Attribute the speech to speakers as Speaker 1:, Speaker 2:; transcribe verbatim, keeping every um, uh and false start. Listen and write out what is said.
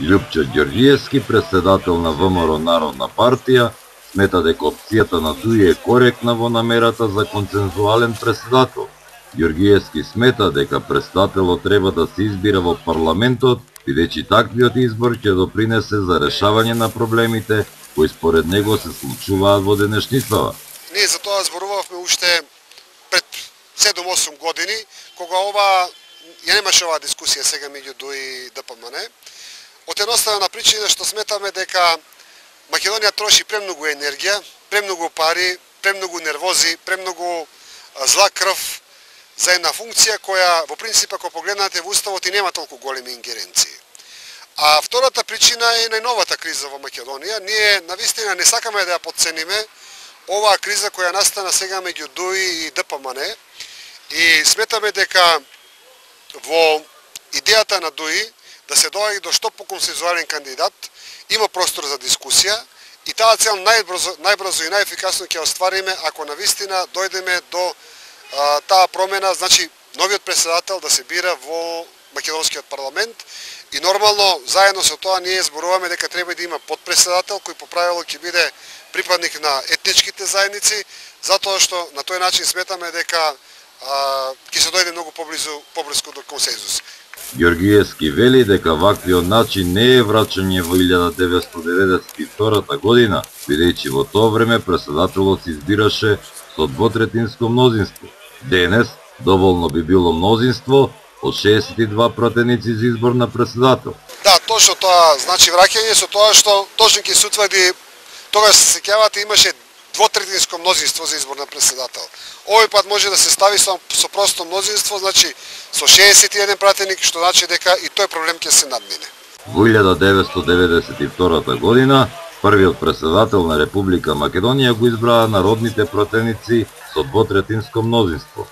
Speaker 1: Љупчо Ѓорѓиевски, председател на ВМРО Народна партија, смета дека опцијата на Дуи е коректна во намерата за консензуален председател. Ѓорѓиевски смета дека председателот треба да се избира во парламентот, бидејќи таквиот избор ќе допринесе за решавање на проблемите кои според него се случуваат во денешницава.
Speaker 2: Ние за тоа зборувавме уште пред седум-осум години, кога ова ја немаше оваа дискусија сега меѓу Дуи и ДПМН. Од едноставна причина што сметаме дека Македонија троши премногу енергија, премногу пари, премногу нервози, премногу зла крв за една функција која во принцип ако погледнате во уставот и нема толку големи ингеренции. А втората причина е најновата криза во Македонија. Ние навистина не сакаме да ја подцениме оваа криза која настана сега меѓу Дуи и ДПМН и сметаме дека во идејата на Дуи да се доаѓа до што поконсензуален кандидат има простор за дискусија и таа цел најбрзо, најбрзо и најефикасно ќе оствариме ако навистина дојдеме до а, таа промена, значи новиот председател да се бира во македонскиот парламент и нормално заедно со тоа ние зборуваме дека треба да има подпредседател кој по правило ќе биде припадник на етничките заедници, затоа што на тој начин сметаме дека ќе се дојде многу поблизу поблиску до консензус.
Speaker 1: Ѓорѓиевски вели дека ваквиот начин не е враќање во илјада деветстотини деветдесет и втора година, бидејќи во тоа време председателот се избираше со двотретинско мнозинство. Денес доволно би било мнозинство од шеесет и два пратеници за избор на председател.
Speaker 2: Да, точно тоа значи враќање со тоа што точно ќе се утврди, тогаш се сеќавате имаше двотретинско мнозинство за избор на председател. Овој пат може да се стави со, со просто мнозинство, значи со шеесет и еден пратеник, што значи дека и тој проблем ќе се надмине.
Speaker 1: Во илјада деветстотини деветдесет и втора година првиот председател на Република Македонија го избраа народните пратеници со двотретинско мнозинство.